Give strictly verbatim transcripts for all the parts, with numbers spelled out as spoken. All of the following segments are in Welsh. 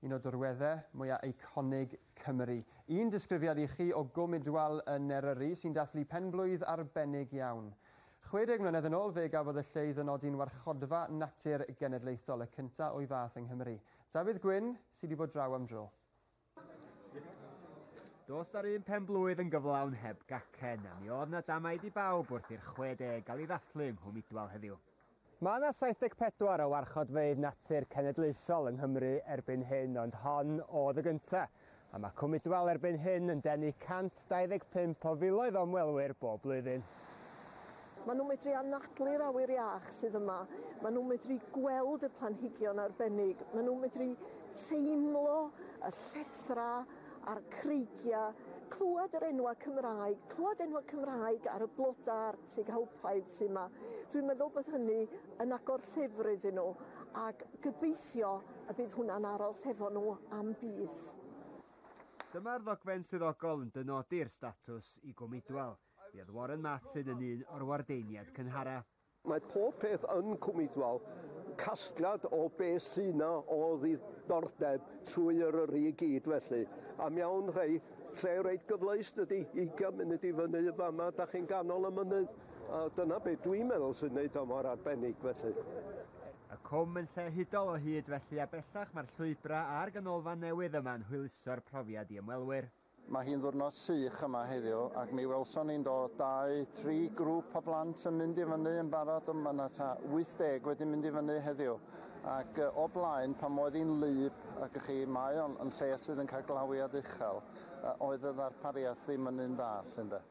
Un o dirweddau mwyaf eiconig Cymru. Un disgrifiad i chi o Gwm Idwal yn Eryri sy'n dathlu penblwydd arbennig iawn. chwe deg mlynedd yn ôl fe gafodd y lle ei ddynodi'n warchodfa natur genedlaethol, y cyntaf o'i fath yng Nghymru. Dafydd Gwyn sydd wedi bod draw am dro. Does na'r un pen blwydd yn gyflawn heb gacen, a mi oedd na damaid i bawb wrth i'r chwe deg gael ei ddathlu yng Nghwm Idwal heddiw. Mae yna saith deg pedwar o warchodfeydd natur cenedlaethol yng Nghymru erbyn hyn, ond hon oedd y gyntaf. A mae Cwm Idwal erbyn hyn yn denu cant dau ddeg pump o filoedd o ymwelwyr bob blwyddyn. Maen nhw'n medru anadlu'r awyr iach sydd yma. Maen nhw'n medru gweld y planhigion arbennig. Maen nhw'n medru teimlo y llethra a'r creigiau, clywed yr enwau Cymraeg, clywed enwau Cymraeg ar y blodau Arctig alpaidd sydd yma. Dwi'n meddwl bod hynny yn agor llyfr iddyn nhw ac gobeithio y bydd hwnna'n aros hefo nhw am byth. Dyma'r ddogfen swyddogol yn dynodi'r statws i Gwm Idwal. Mi oedd Warren Martin yn un o'r wardeiniad cynhara. Mae pob peth yn Cwm Idwal casgliad o be sy'n na o ddiddordeb trwy Eryri i gyd felly. A mewn rhai lle reit gyfleus dydy, ugain munud i fyny y fama, da chi'n ganol y mynydd. A dyna be dwi'n meddwl sy'n neud o mor arbennig felly. Y cwm yn lle hudol o hyd felly, a bellach mae'r llwybrau a'r ganolfan newydd yma'n hwyluso'r profiad i ymwelwyr. Mae hi'n ddwrnod sych yma heddiw ac mi welson ni'n dod dau, tri grŵp o blant yn mynd i fyny yn barod, ond mae yna ta wyth deg wedi mynd i fyny heddiw. Ac o blaen, pan oedd hi'n wlyb, ac chi, mae o'n yn lle sydd yn cael glawiad uchel, oedd y ddarpariaeth ddim yn un dda, llynda.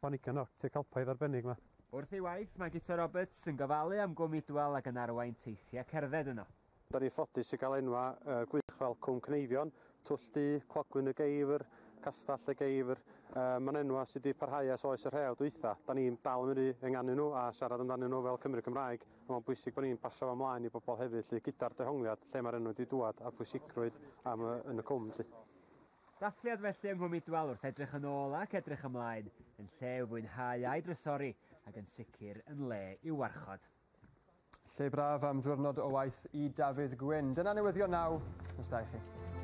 Planhigion Arctic alpaidd arbennig yma. Wrth ei waith, mae Guto Roberts yn gofalu am Gwm Idwal ac yn arwain teithiau cerdded yno. Da ni ffodus i gael enwa uh, gwych fel Cwm Cneifion, Twll Du, Clogwyn y Geifr, Castell y Geifr. Uh, Mae'n enwa sydd wedi parhau ers oes y rhew dwytha. Da ni'n dal yn mynd i ynganu nhw a siarad amdanyn nhw fel Cymru Cymraeg. A mae'n bwysig bod ni'n pasio fo ymlaen i bobl hefyd, lle gyda'r dehongliad lle mae'r enw wedi dŵad a'r pwysigrwydd am y, yn y cwm. Lle. Dathliad felly yng Nghwm Idwal wrth edrych yn ôl ac edrych ymlaen, yn lle i'w fwynhau a'i drysori ac yn sicr yn le i'w warchod. Lle braf am ddiwrnod o waith i Dafydd Gwyn. Dyna newyddion naw. Nos da i chi.